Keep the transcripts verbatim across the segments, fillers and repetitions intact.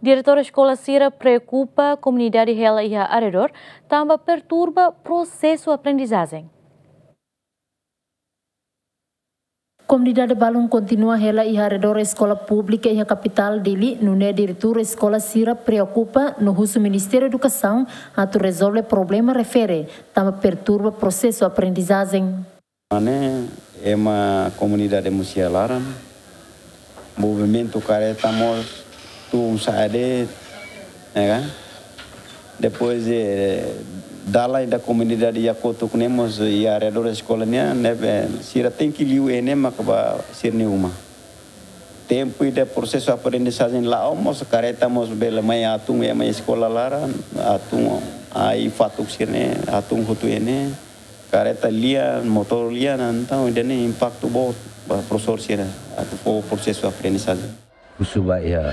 Diretór eskola sira preokupa komunidade hela iha arredór, tanba perturba prosesu aprendizajen. Komunidade balun kontinua hela iha arredór eskola públika iha kapitál Dili, nune'e diretór eskola sira preokupa no husu Ministériu Edukasaun atu rezolve problema refere, tanba perturba prosesu aprendizajen. Ne'e, ema komunidade mós iha laran, movimentu kareta mós tun sa'e de'it, ne'e ka? Depois, eh, dalan ida komunidade iha kotuk ne'e mós iha arredór eskola nian, ne'ebé sira tenke liu iha ne'e maka ba sira-nia uma. Tempu ida prosesu aprendizajen la'o mós kareta mós bele mai hatún, eh, mai eskola laran, hatún ai fatuk sira-ne'e, hatún hotu iha ne'e. Kareta lian, motór lian, entaun ida-ne'e impaktu boot ba profesór sira atu fó prosesu aprendizajen. Husu ba iha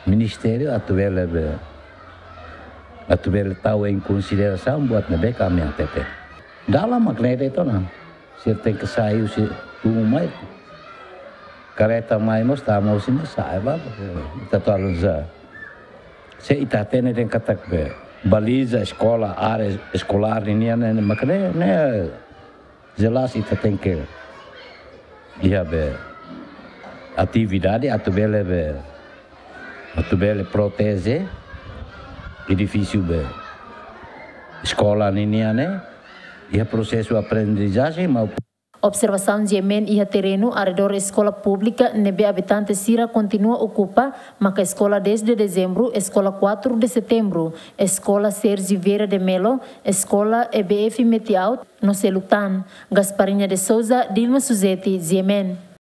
ministériu atu bele be, atu bele tau em konsiderasaun buat ne'ebé ami hatete. Dalan mak ne'e de'it ona. Sira tenke sai husi uma mai. Kareta mai mós tama husi ne'e sa'e ba. Ita atu analiza. Se ita hatene dehan katak be baliza eskola, área eskolár ninian ne'e, ne'e mak ne'e, ne'e jelas ita tenke iha be atividade atu bele be, atu bele proteje edifísiu be eskola ninian ne'e, iha prosesu aprendizajen maupun. Observasaun GMN iha terrenu arredór eskola públika ne'ebé abitante sira kontinua okupa, maka eskola dez de dezembru, eskola quatro de setembro, eskola Sérgio Vieira de Mello, eskola E B F Metiaut, no seluk tan. Gasparinha de Souza, Dilma Suzeti, GMN.